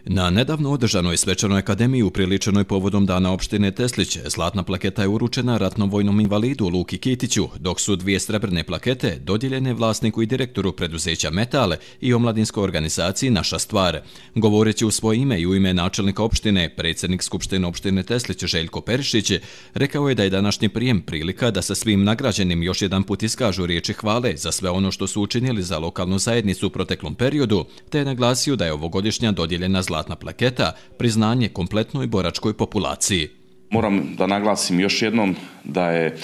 Na nedavno održanoj svečanoj akademiji upriličenoj povodom dana opštine Teslić, zlatna plaketa je uručena ratnom vojnom invalidu Luki Kitiću, dok su dvije srebrne plakete dodijeljene vlasniku i direktoru preduzeća Metale i omladinskoj organizaciji Naša stvar. Govoreći u svoje ime i u ime načelnika opštine, predsjednik Skupštine opštine Teslić Željko Perišić rekao je da je današnji prijem prilika da sa svim nagrađenim još jedan put iskažu riječi hvale za sve ono što su učinili za lokalnu zajednicu u proteklom periodu, te je naglasio da je ovogodišnja dodijeljena zlatna plaketa priznanje kompletnoj boračkoj populaciji. Moram da naglasim još jednom da je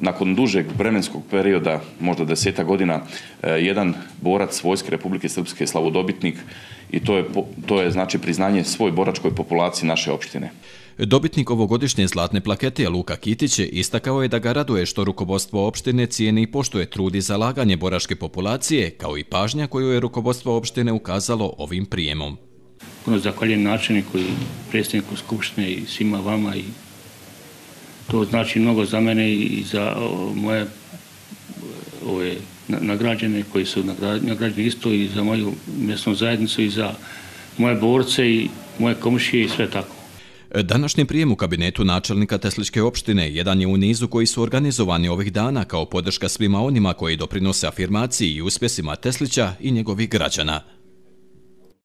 nakon dužeg vremenskog perioda, možda 10 godina, jedan borac Vojske Republike Srpske slavodobitnik i to je znači priznanje svoj boračkoj populaciji naše opštine. Dobitnik ovogodišnje zlatne plakete Luka Kitić istakao je da ga raduje što rukovodstvo opštine cijeni i poštuje trud i zalaganje boračke populacije, kao i pažnja koju je rukovodstvo opštine ukazalo ovim prijemom. Puno zahvaljujem načelniku i predsjedniku Skupštine i svima vama, i to znači mnogo za mene i za moje nagrađene koji su nagrađeni isto, i za moju mjesnu zajednicu i za moje borce i moje komšije i sve tako. Današnji prijem u kabinetu načelnika Tesličke opštine jedan je u nizu koji su organizovani ovih dana kao podrška svima onima koji doprinose afirmaciji i uspjesima Teslića i njegovih građana.